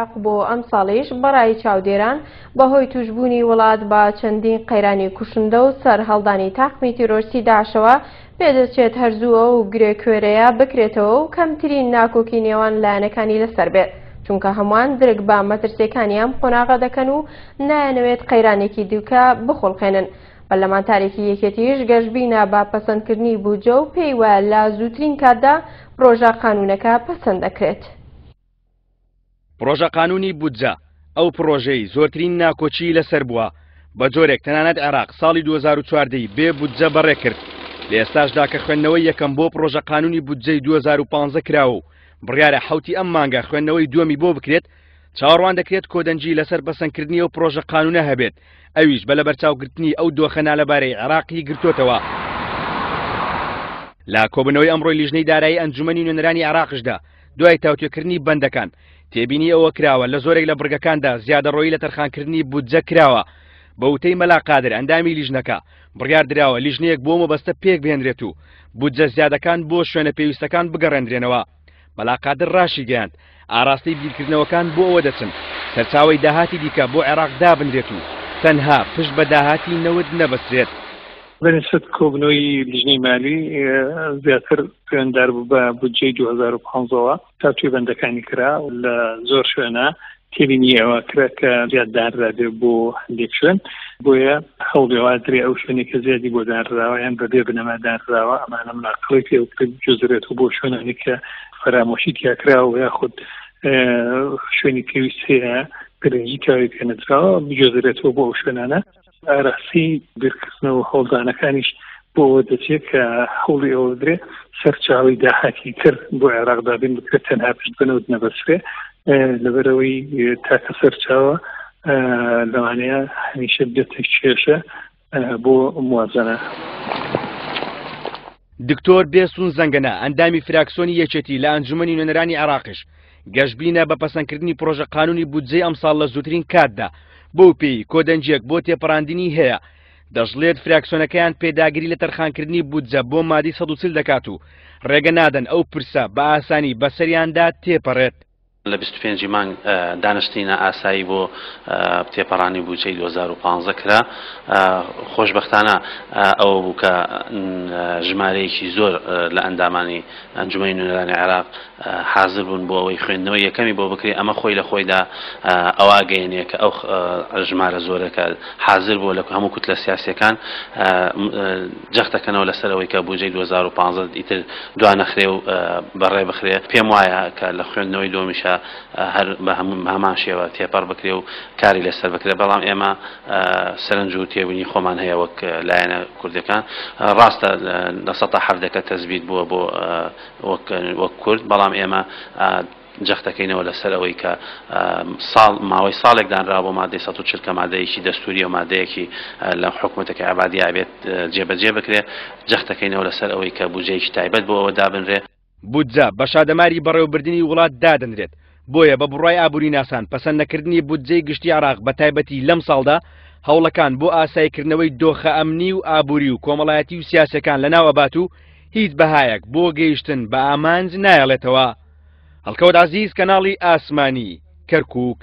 عێراق بۆ ئەمساڵیش بەڕای چاودێران بەهۆی تووشبوونی وڵات بە چەندین قەیرانی کوشندە و سەرهەڵدانی تاقمی تیرۆرستی داعشەوە پێدەچێت هەر زوو ئەو گرێ کوێرەیە بکرێتەوە و کەمترین ناکۆکی نێوان لایەنەکانی لەسەر بێت چونکە هەمووان درک بە مەترسیەکانی ئەم قۆناغە دەکەن و نایانەوێت قەیرانێکی دیکە بخوڵقێنن. پەرلەمانتارێکی یەکێتیش گەشبینە بە پەسەندکردنی بودجە و پێی وایە لە زووترین کاتدا پرۆژە قانوونەکە پەسەند دەکرێت. پڕۆژە قانوونی بودجە ئەو پڕۆژەی زۆرترین ناکۆکیی لەسەر بووە، بە جۆرێک تەنانەت عێراق ساڵی 2014 ی بێ بودجە بەڕێ کرد، لە ئێستاشدا کە خوێندنەوەی یەکەم بۆ پڕۆژە قانوونی بودجەی 2015 کراوە و بڕیارە حەوتی ئەم مانگە خوێندنەوەی دووەمی بۆ بکرێت، چاوەڕوان دەکرێت کۆدەنگی لەسەر پەسەندکردنی ئەو پڕۆژە قانوونە هەبێت، ئەویش بە لەبەرچاوگرتنی ئەو دۆخە نالەبارەی عێراقی گرتۆتەوە. لە کۆبوونەوەی ئەمڕۆی لیژنەی دارایی ئەنجومەنی نوێنەرانی عێراقشدا، دوای تاوتوێکردنی بەندەکان، تێبینی ئەوە کراوە لە زۆرێک لە بڕگەکاندا زیادەڕۆیی لە تەرخانکردنی بودجە کراوە. بە وتەی مەلا قادر ئەندامی لیژنەکە، بڕیار دراوە لیژنەیەک بۆ مەبەستە پێکبهێنرێت و بودجە زیادەکان بۆ شوێنە پێویستەکان بگەڕێندرێنەوە. مەلا قادر ڕاشیگەیاند، ئاراستەی بیرکردنەوەکان بۆ ئەوە دەچن سەرچاوەی داهاتی دیکە بۆ عێراق دابنرێت و تەنها پشت بە داهاتی نەوت نەبەسترێت. بە نیسبەت کۆبوونەوەی لیژنەی مالی زیاتر پەیوەنددار بوو بە بودجەی 2015ەوە تاوتوێ بەندەکانی کرا لە زۆر شوێنە تێبینی ئەوە کرا کە زیاد دانرابێ بۆ هەندێک شوێن بۆیە هەوڵی ئەوە درێ ئەو شوێنێک کە زیادی بۆ دانراوە یان بەبێ بنەما دانراوە ئەمانە مناقڵی پێ بجوزرێت و بۆ شوێنانی کە فەرامۆشی تیاکراوە یاخود شوێنی پێویست هەیە گرنگی تاوی پێنەدراوە بجوزرێتەوە بۆ ئەو شوێنانە ئاراستەی بیرکردنەوە و هەوڵدانەکانیش بۆ ئەوە دەچێت کە هەوڵی ئەوە بدرێ سەرچاوەی داهاتی تر بۆ عێراق دابین بکرێت تەنها پشت بە نەوت نەبەسترێ لەبەرئەوەی تاکە سەرچاوە لەوانەیە هەمیشە بێتە کێشە بۆ موازنە. دکتۆر بێستون زەنگەنە، ئەندامی فراکسۆنی یەکێتی لە ئەنجومەنی نوێنەرانی عێراقیش، گەشبینە بە پەسەندکردنی پڕۆژە قانونی بودجەی ئەمساڵ لە زووترین کاتدا، بەو پێی کۆدەنگییەک بۆ تێپەڕاندنی هەیە. دەشڵێت فراکسۆنەکەیان پێداگری لە تەرخانکردنی بودجە بۆ مادەی 140 دەکات و ڕێگە نادەن ئەو پرسە بە ئاسانی بەسەریاندا تێپەڕێت. لە 25 ی مانگ دانیشتنی نائاسایی بۆ تێپەڕانی بودجەی 2015 کرا، خۆشبەختانە ئەوە بوو کە ژمارەیەکی زۆر لە ئەندامانی ئەنجومەنی نوێنەرانی عێراق حازر بوون بۆ ئەوەی خوێندنەوەی یەکەمی بۆ بکرێت، ئەمە خۆی لە خۆیدا ئەوە ئەگەیەنێ کە ئەو ژمارە زۆرە کە حازر بووە لە هەموو کوتلە سیاسییەکان جەخت دەکەنەوە لەسەر ئەوەی کە بودجەی 2015 ئیتر دوا نەخرێ و بەڕێ بخرێ. پێم وایە کە لە خوێندنەوەی دووەمیشا هەر بە هەمان شێوە تێپەڕ بکرێ و کاری لەسەر بکرێ، بەڵام ئێمە سەرنج و تێبینی خۆمان هەیە وەک لایەنە کوردەکان. ڕاستە 17% کە تەسبیت بووە بۆ وەک کورد، بەڵام ئێمە جەختەکەینەوە لەسەر ئەوەی کە ساڵ ماوەی ساڵێک دانراوە بۆ مادەی 140 کە مادەیەکی دەستووریە و مادەیەکی لە حکومەتەکەی عەبادی ئەبێت جێبەجێ بکرێ، جەختەکەینەوە لەسەر ئەوەی کە بودجەیەکی تایبەت بۆ ئەوە دابنرێ. بودجە بە شادەماری بەڕێوەبردنی وڵات دادەنرێت، بۆیە بە بڕوای ئابووریناسان پەسەندنەکردنی بودجەی گشتی عێراق بە تایبەتی لەمساڵدا هەوڵەکان بۆ ئاساییکردنەوەی دۆخە ئەمنی و ئابووری و کۆمەڵایەتی و سیاسیەکان لەناو ئەبات و هیچ بەهایەک بۆ گەیشتن بە ئامانج نایەڵێتەوە. هەڵکەوت عەزیز، کەناڵی ئاسمانی، کەرکووک.